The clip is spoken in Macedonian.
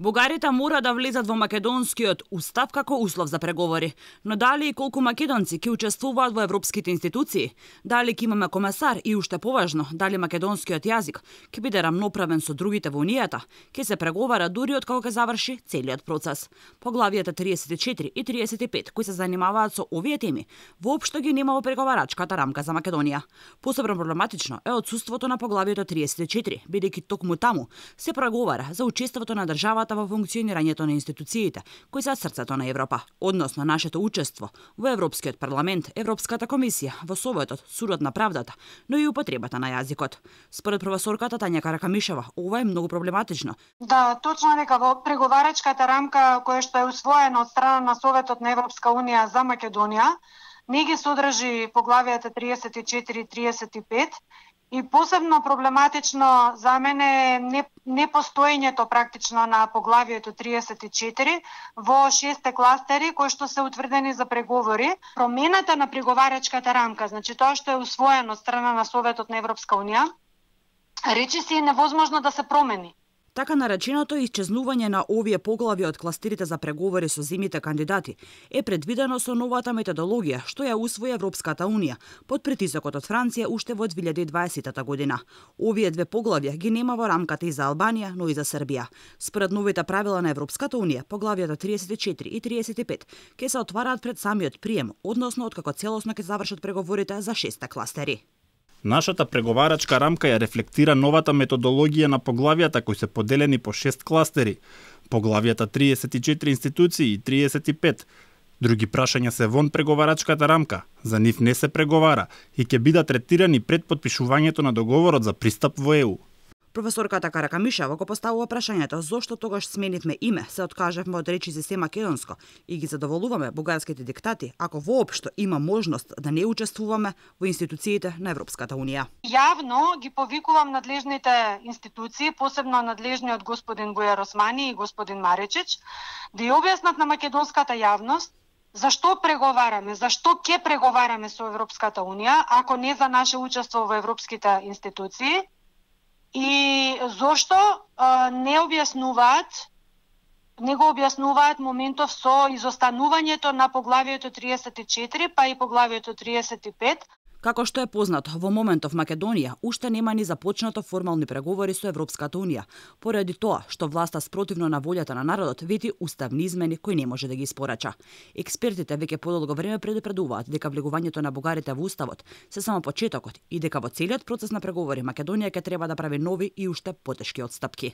Бугарите мора да влезат во македонскиот устав како услов за преговори, но дали и колку македонци ќе учествуваат во европските институции, дали ќе имаме комесар и уште поважно, дали македонскиот јазик ќе биде рамноправен со другите во унијата, ќе се преговара дури од кога ќе заврши целиот процес. Поглавијата 34 и 35 кои се занимаваат со овие теми, воопшто ги нема во преговарачката рамка за Македонија. Посебно проблематично е отсуството на поглавието 34, бидејќи токму таму се преговара за учеството на државата во функционирањето на институциите, кои се срцето на Европа, односно нашето учество во Европскиот парламент, Европската комисија, во Советот, Судот на правдата, но и употребата на јазикот. Според професорката Тања Каракамишева, ова е многу проблематично. Да, точно дека во преговарачката рамка која што е усвоена од страна на Советот на Европска унија за Македонија, не ги содржи поглавијата 34 и 35, и посебно проблематично за мене е непостоењето практично на поглавието 34 во 6 кластери кои што се утврдени за преговори. Промената на преговарачката рамка, значи тоа што е усвоено од страна на Советот на Европска унија, речиси е невозможно да се промени. Така нареченото исчезнување на овие поглави од кластерите за преговори со земјите кандидати е предвидено со новата методологија што ја усвои Европската унија под притисокот од Франција уште во 2020 година. Овие две поглавја ги нема во рамката и за Албанија, но и за Србија. Според новите правила на Европската унија, поглавијата 34 и 35 ќе се отвараат пред самиот прием, односно откако целосно ќе завршат преговорите за 6 кластери. Нашата преговарачка рамка ја рефлектира новата методологија на поглавијата кои се поделени по 6 кластери. Поглавијата 34 институции и 35. Други прашања се вон преговарачката рамка. За нив не се преговара и ќе бидат третирани пред потпишувањето на договорот за пристап во ЕУ. Професорката Каракамишева го поставува прашањето зошто тогаш сменивме име, се откажавме од речиси се македонско и ги задоволуваме бугарските диктати, ако воопшто има можност да не учествуваме во институциите на Европската унија. Јавно ги повикувам надлежните институции, посебно надлежниот господин Бујар Османи и господин Маречич, да ја објаснат на македонската јавност зашто преговараме, зашто ќе преговараме со Европската унија, ако не за наше учество во европските институции, и зошто не го објаснуваат моментов со изостанувањето на поглавието 34 па и поглавието 35. Како што е познато, во моментов Македонија уште нема ни започнато формални преговори со Европската унија, поради тоа што власта спротивно на волјата на народот вети уставни измени кои не може да ги испорача. Експертите веќе подолго време предупредуваат дека влегувањето на бугарите во уставот се само почетокот и дека во целиот процес на преговори Македонија ќе треба да прави нови и уште потешки отстапки.